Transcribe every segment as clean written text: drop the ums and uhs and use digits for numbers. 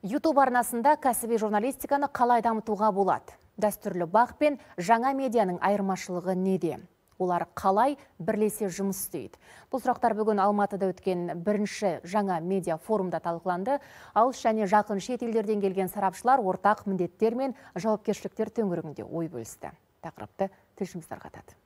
YouTube арнасында кәсіби журналистиканы қалай дамытуға болады? Дәстүрлі бақ пен жаңа медианың айырмашылығы неде? Олар қалай бірлесе жұмыс істейді? Бұл сұрақтар бүгін Алматыда өткен бірінші жаңа медиа форумда талқыланды. Алыс және жақын шет елдерден келген сарапшылар ортақ міндеттер мен жауапкершіліктер төңірегінде ой бөлісті. Тақырыпты тілшіміз тарқатады.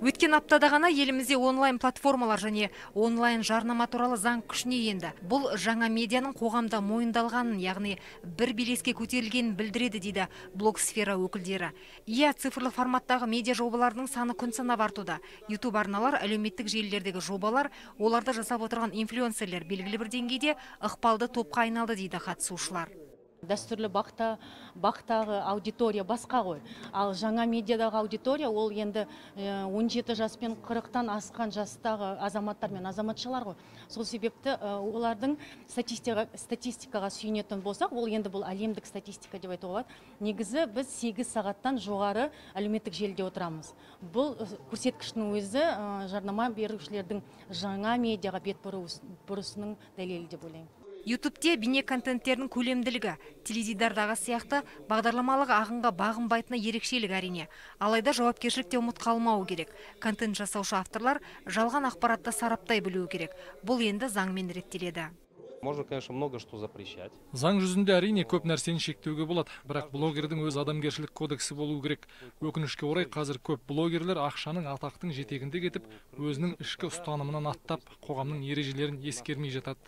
Өткен аптада ғана елімізде онлайн платформалар және онлайн жарнама туралы заң күшіне енді. Бұл жаңа медианың қоғамда мойындалғанын, яғни бір белеске көтерілгенін білдіреді дейді блогсфера өкілдері. Цифрлы форматтағы медиа жобалардың саны күн санап артуда. YouTube арналар, әлеуметтік желілердегі жобалар, оларды жасап отырған инфлюенсерлер белгілі бір деңгейде ықпалды топқа айналды дейді қатысушылар. Дәстүрлі бақтағы аудитория басқа ғой. Ал жаңа медиадағы аудитория ол енді 17 жас пен 40-тан асқан жастағы азаматтар мен азаматшалар ғой. Сол себепті олардың статистикаға сүйенетін болсақ, ол енді бұл әлемдік статистика деп айтуға болады. Негізі біз 8 сағаттан жоғары әлеуметтік желіде отырамыз. Бұл көрсеткіштің өзі жарнама берушілердің жаңа медиаға бет бұрысының дәлелі деп ойлаймын. YouTube'те бейне контенттердің көлемділігі, теледидардағы сияқты бағдарламалық ағынға бағынбайтыны ерекшелік әрине. Алайда жауапкершілікте ұмыт қалмауы керек. Контент жасаушы авторлар жалған ақпаратты сараптай білуі керек. Бұл енді заңмен реттеледі. Можно, конечно, много что запрещать. Заң жүзінде әрине көп нәрсені шектеуге болады, бірақ блогердің өз адамгершілік кодексі болуы керек. Өкінішке орай қазір көп блогерлер ақшаның, атақтың жетегінде кетіп, өзінің ішкі ұстанымынан аттап, қоғамның ережелерін ескермей жатады.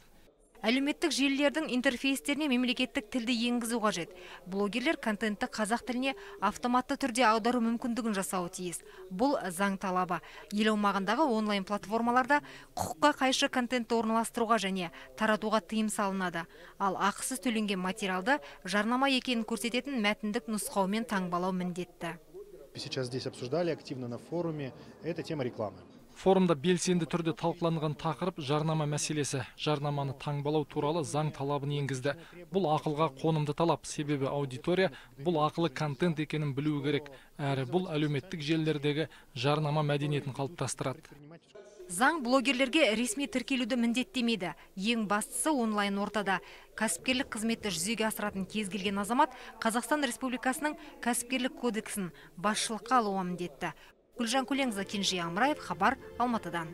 Әлеуметтік желілердің интерфейстеріне мемлекеттік тілді енгізу қажет. Блогерлер контентті қазақ тіліне автоматты түрде аудару мүмкіндігін жасауы тиіс. Бұл заң талабы. Ел аумағындағы онлайн платформаларда құқыққа қайшы контентті орналастыруға және таратуға тыйым салынады. Ал ақысыз төленген материалды жарнама екенін көрсететін мәтіндік нұсқаумен таңбалау міндетті. Сейчас здесь обсуждали активно на форуме, это тема рекламы. Форумда белсенді түрде талқыланған тақырып жарнама мәселесі. Жарнаманы таңбалау туралы заң талабын енгізді. Бұл ақылға қонымды талап, себебі аудитория бұл ақылы контент екенін білуі керек. Әрі бұл әлеуметтік желілердегі жарнама мәдениетін қалыптастырады. Заң блогерлерге ресми тіркелуді міндеттемейді. Ең бастысы онлайн ортада кәсіпкерлік қызметті жүзеге асыратын кез келген азамат Қазақстан Республикасының кәсіпкерлік кодексін басшылыққа алуы міндетті. Гүлжан Көленқызы, Кенже Амраев, Хабар, Алматыдан.